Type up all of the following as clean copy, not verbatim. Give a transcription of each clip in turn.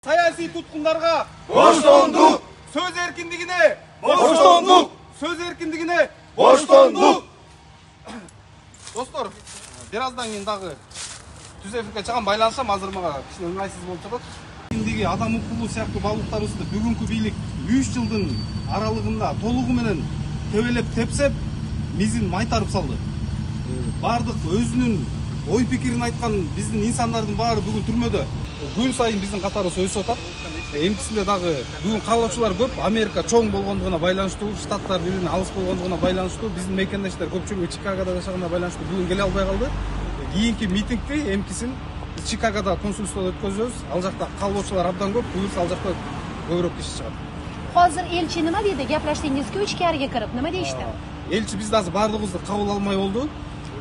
Саясий туткундарга боштондук, сөз эркиндигине боштондук, сөз эркиндигине боштондук. Достор, бир аздан кийин дагы түз эфирге чыгам, байланышам. Азыр мага кичине ыңгайсыз болуп жатат. Эркиндиги, адам укугу сыяктуу баалуулуктарыбызды бүгүнкү бийлик 3 жылдын аралыгында толугу менен тебелеп тепсеп, мизин майтарып салды. Бардык өзүнүн ой пикирин айткан биздин инсандардын баары бүгүн түрмөдө. Күн сайын биздин катарыбыз өсүп атат. Эмкисинде дагы бүгүн каалоочулар көп. Америка чоң болгондугуна байланыштуу, штаттар бири-биринен алыс болгондугуна байланыштуу, биздин мекендештер көпчүлүгү Чикагода жашаганына байланыштуу бүгүн келе албай калды. Кийинки митингти эмкисин Чикагода консулстводо өткөзөбүз. Ал жакта каалоочулар абдан көп, буюрса ал жакта көбүрөөк киши чыгат. Hozir elchi nima dedi? Gaplashdingizku ichkariga kirib, nima deyishdi? Elchi bizди азыр баардыгыбызды кабыл алмай болду.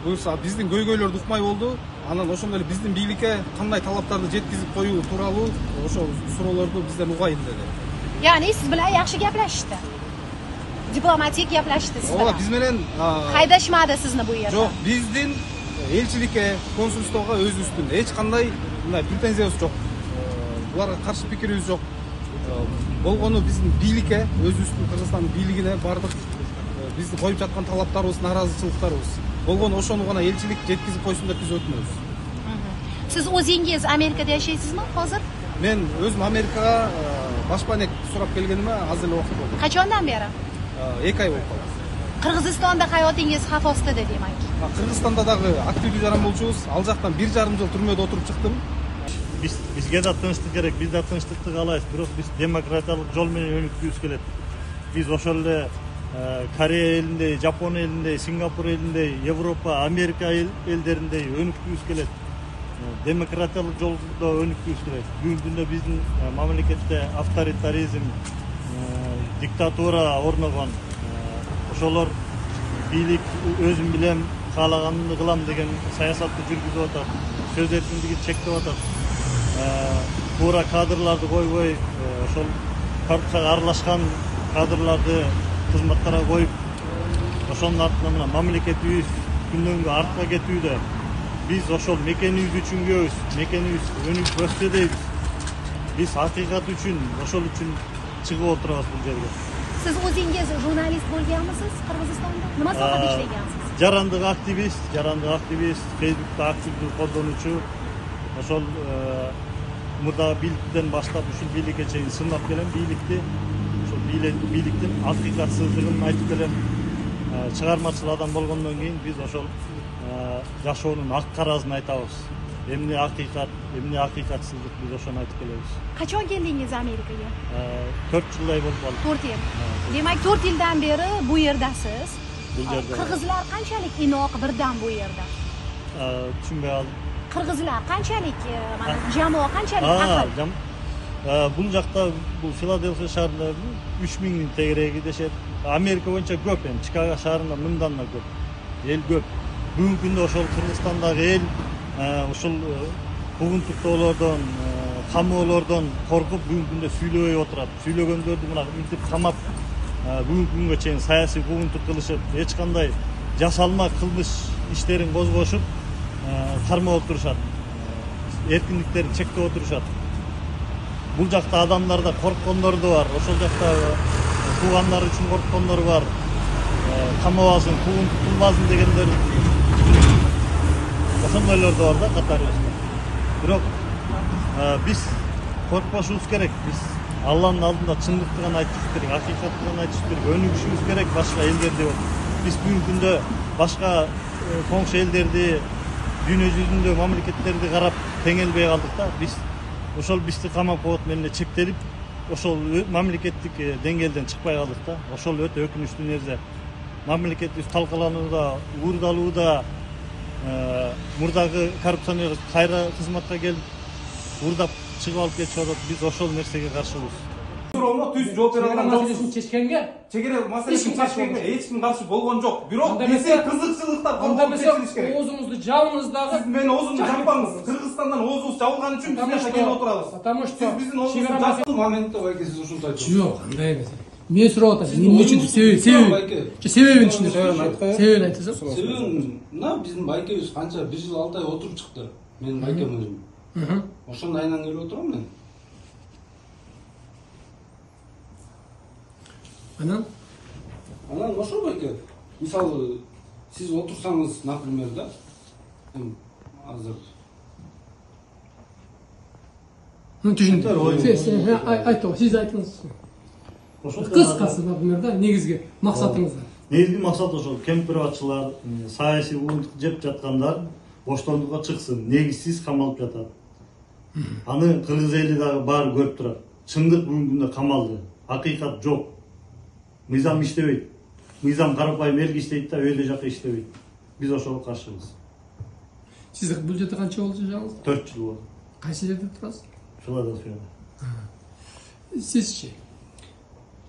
Буюрса биздин көйгөйлөрдү укмай болду. Анан ошондой эле биздин бийликке кандай талаптарды жеткизип коюу тууралуу ошо суроолорду бизден угайын деди. Ya'ni siz bilan yaxshi gaplashdi. Diplomatik gaplashdi siz bilan. Ооба, биз менен Haydashmadi sizni bu yerda. Жок, биздин элчиликке, консулствого өзүбүздүн эч кандай мындай претензиябыз жок. Буларга каршы пикирибиз жок. Болгону биздин бийликке, өзүбүздүн Кыргызстандын бийлигине бардык бизди коюп жаткан талаптарыбыз, наразычылыктарыбыз болгону ошону гана элчилик жеткизип койсун деп биз өтүнөбүз. Siz o'zingiz Amerikada yashaysizmi hozir? Men өзүм Америкага башпанек сурап келгениме азыр эле убакыт болду. Qachondan beri? 2 ай болуп калды. Qirg'izistonda hayotingiz xavf ostida demak. Кыргызстанда дагы активдүү жаранболчубуз. Ал жактан 1,5 жыл түрмөдө отуруп чыктым. Бизге да тынчтык керек, биз да тынчтыкты каалайбыз, бирок биз демократиялык жол менен өнүккүбүз келет. Биз ошол эле Корея элиндей, Жапон элиндей, Сингапур элиндей, Европа, Америка элдериндей өнүккүбүз келет. Демократиялык жолдо өнүккүбүз келет. Бүгүнкү күндө биздин мамлекетте авторитаризм, диктатура орногон. Ошолор бийлик өзүм билем, каалаганымды кылам деген саясатты жүргүзүп атат. Сөз эркиндигин чектеп атат. Туура кадрларды койбой, ошол коррупцияга аралашкан кадрларды кызматтарга коюп, ошонун артынан мына мамлекетибиз күндөн күнгө артка кетүүдө. Биз ошол мекенибиз үчүн күбүз, мекенибиз өнүгүп өссө дейбиз. Биз акыйкат үчүн, ошол үчүн чыгып отурабыз бул жерге. Siz o'zingiz jurnalist bo'lganmisiz Qirg'izistonda? Nima sohada ishlagansiz? Жарандык активист, Facebook'ta активдүү колдонуучу. Ошол мурдагы бийликтен баштап ушул бийликке чейин сынап келем бийликти. Ошол бийликтин акыйкатсыздыгын айтып келем. Чыгармачыл адам болгондон кийин биз ошол жашоонун ак карасын айтабыз. Эмне акыйкат, эмне акыйкатсыздык, биз ошону айтып келебиз. Qachon keldingiz Amerikaga? 4 жылдай болуп калды. 4 yil. Demak 4 yildan beri bu yerdasiz. Bu yerda. Qirg'izlar qanchalik inoq birdan bu yerda? Tushunbay qoldim. Qirg'izlar qanchalik, mana jamoa qanchalik aql? Бул жакта, бул Филадельфия шаарында 3000 тегереги дешет. Америка боюнча көп, эми Чикаго шаарында мындан да көп. Эл көп. Бүгүнкү күндө ошол Кыргызстандагы эл ушул куугунтуктоолордон, камоолордон коркуп бүгүнкү күндө сүйлөбөй отурат. Сүйлөгөндөрдү мына мынтип камап, бүгүнкү күнгө чейин саясий куугунтук кылышып, эч кандай жасалма кылмыш иштерин козгошуп, кармап отурушат. Эркиндиктерин чектеп отурушат. Бул жакта адамдарда корккондор да бар. Ошол жакта туугандары үчүн корккондор бар. Камабасын, куугунтук кылбасын дегендер. Ошондойлор да бар да катарыбызда. Бирок биз коркпошубуз керек. Биз Алланын алдында чындыкты гана айтышыбыз керек, акыйкатты гана айтышыбыз керек, өнүгүшүбүз керек башка элдерди. Биз бүгүнкү күндө башка коңшу элдерди, дүйнө жүзүндө мамлекеттерди карап теңелбей калдык да. Биз ошол бизди камап коет менен чектелип, ошол мамлекеттик деңгээлден чыкпай калдык да. Ошол өтө өкүнүчтүү нерсе. Мамлекетибиз талкаланууда, уурдалууда, мурдагы коррупционер кайра кызматка келип, уурдап чыгып алып кетип атат. Биз ошол нерсеге каршыбыз. Суроомо түз жооп бере алган жок. Чечкенге Чегере маселесин чечкенге эч ким каршы болгон жок. Бирок бизде кызыкчылыктар анда коркуп чечилиш керек. оозуңузду жабыңыз дагы. Сиз мени оозумду жаппаңыз. Кыргызстандан оозубуз жабылган үчүн биз жака келип отурабыз. Потому что сиз биздин оозубузду жапкыл моментте байке сиз ушунча айтып. Жок, андай эмес. Мен сурап атам. Эмне үчүн себебин түшүнөсүз? Себебин айтасыз? Себебин мына биздин байкебиз канча 1 жыл 6 ай отуруп чыкты. Менин байкем өзүм. Ошондун айынан келип отурам мен. Анан Анан ошо байке. Мисалы, сиз отурсаңыз, например, да, азыр түшүндүм. Айтып, сиз айтыңыз. Кыскасы, например, да, негизги максатыңыз. Негизги максат ошол кемпирбатчылар, саясий уундук жеп жаткандар боштондукка чыксын, негизсиз камалып жатат. Аны кыргыз эли дагы баары көрүп турат. Чындык бүгүнкү күндө камалды. Акыйкат жок. Мыйзам иштебейт. Мыйзам карапайым элге иштейт да, өйдө жака иштебейт. Биз ошого каршыбыз. Сиз бул жерде канча болду жашагыңыз? 4 жыл болду. Кайсы жерде турасыз? Филадельфияда. Сизчи?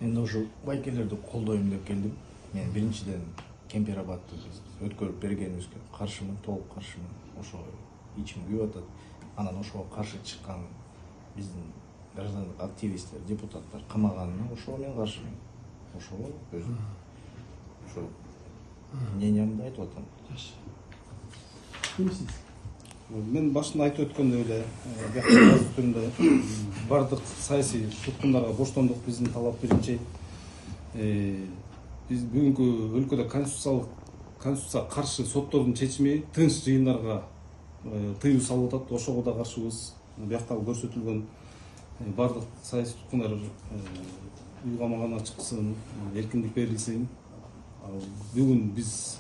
Мен ошо байкелерди колдойм деп келдим. Мен биринчиден Кемпир-Абадты өткөрүп бергенибизге каршымын, толук каршымын. Ошо ичим күйүп атат. Анан ошого каршы чыккан биздин граждандык активисттер, депутаттар камаганына ошого мен каршымын. Ошого өзүм ошо мнениямды айтып атам. мен башында айтып өткөндөй эле, бияк түрүндө бардык саясий туткундарга боштондук биздин талап биринчи. Биз бүгүнкү өлкөдө конституцияга каршы соттордун чечими тынч жыйындарга тыюу салып атат. Ошого да каршыбыз. Бияктагы көрсөтүлгөн бардык саясий туткундар уйгамагана чыксын, эркиндик берилсин. Бүгүн биз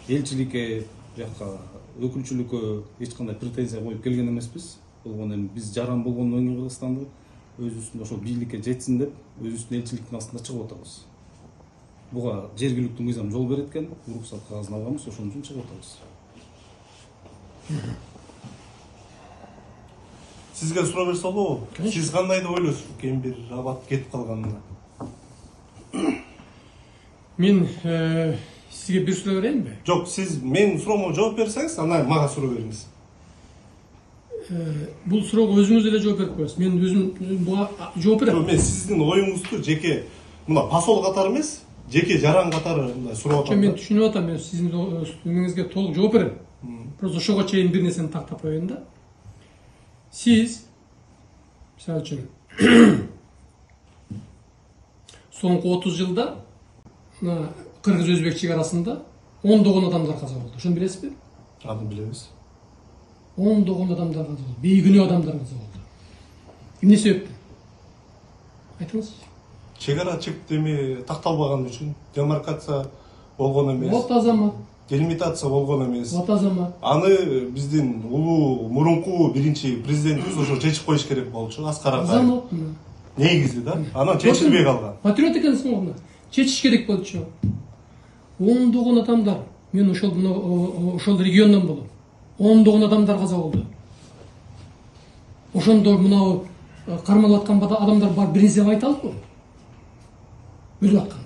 элчиликке, бияка өкүлчүлүккө эч кандай претензия коюп келген эмеспиз. Болгону эми биз жаран болгондон кийин Кыргызстанды өзүбүздүн ошол бийликке жетсин деп өзүбүздүн элчиликтин астында чыгып атабыз. Буга жергиликтүү мыйзам жол берет экен, уруксат кагазын алганбыз, ошон үчүн чыгып атабыз. Сизге суроо берсе болобу? Сиз кандай деп ойлойсуз Кемпир-Абад кетип калганына? Мен сизге бир суроо берейинби? Жок, сиз менин суроомо жооп берсеңиз, анан мага суроо бериңиз. Бул суроого өзүңүз эле жооп берип коесуз. Мен өзүм буга жооп берем. Мен сиздин оюңузду жеке мына посол катары эмес, жеке жаран катары мындай сурап атам. Мен түшүнүп атам, мен сиздин өңүңүзгө толук жооп берем. Просто ошого чейин бир нерсени тактап коеюн да. Сиз мисалы үчүн соңку 30 жылда кыргыз-өзбек чек арасында ондогон адамдар каза болду. Ошону билесизби? Аны билебиз. Ондогон адамдар каза болду. Бейгүнөө адамдар каза болду. Эмне себептен? Айтыңыз. Чек ара чектеми такталбаган үчүн, демаркация болгон эмес. Вот азамат. Делимитация болгон эмес. Вот азамат. Аны биздин улуу мурунку биринчи президентибиз ошо чечип коюш керек болчу, Аскар Акаев. Азамат. Негизи да. Анан чечилбей калган. Патриот экенсиң го. Чечиш керек болчу. Ондогон адамдар, мен ошол региондон болом. Ондогон адамдар каза болду. Ошондо мынау кармалып аткан адамдар бар, бир нерсе айта албайбы? Өлүп атканда.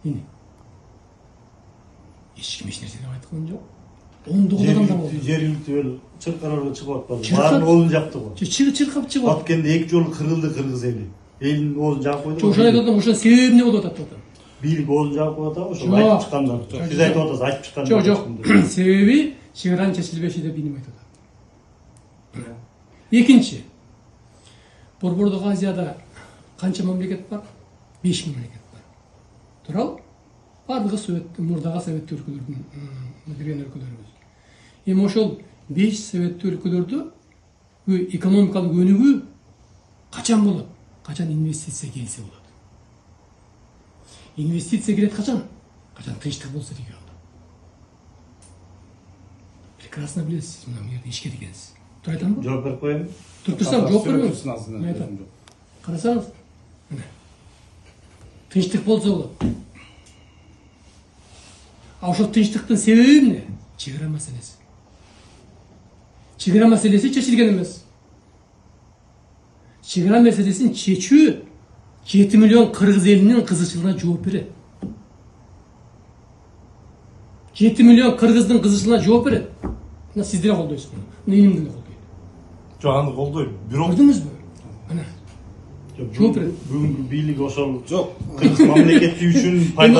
Эне. Эч ким эч нерсе деп айткан жок. Ондогон адамдар болду. Жергиликтүү эл чыркарарга чыгып атпады. Баарын оозун жапты го. Чыркап чыгып атты. Баткенде 2 жолу кырылды кыргыз эли. Элдин оозун жаап койду. Ошол айтып атам, ошонун себеби эмне болуп атат деп атам. Бийлик оозун жаап коюп атабы, ошо айтып чыккандар. Биз айтып атабыз, айтып чыккандар. Жок. Себеби чек аранын чечилбеши деп менин айтып атам. Экинчи. Борбордук Азияда канча мамлекет бар? 5 мамлекет бар. Туурабы? Бардыгы Совет, мурдагы советтүү өлкөлөрдүн кирген өлкөлөрүбүз. Эми ошол 5 советтүү өлкөлөрдө экономикалык өнүгүү качан болот? Качан инвестиция келсе болот. Инвестиция келет качан? Качан тынчтык болсо региондо. Прекрасно билесиз, мына жерде ишке дегенсиз. Тура айтамбы? Жооп берип коеюн. Туруп турсам жооп берем. Карасаңыз, мына тынчтык болсо болот. А ошол тынчтыктын себеби эмне? Чек ара маселеси. Чек ара маселеси чечилген эмес. Чек ара маселесин чечүү 7 миллион кыргыз элинин кызычылыгына жооп берет. 7 миллион кыргыздын кызычылыгына жооп берет. Мына сиздер колдойсузбу? Менин деле колдойт. Жок, аны колдойм. Бирок Көрдүңүзбү? Мына. Жооп берет. Бүгүнкү бийлик ошол Жок. кыргыз мамлекети үчүн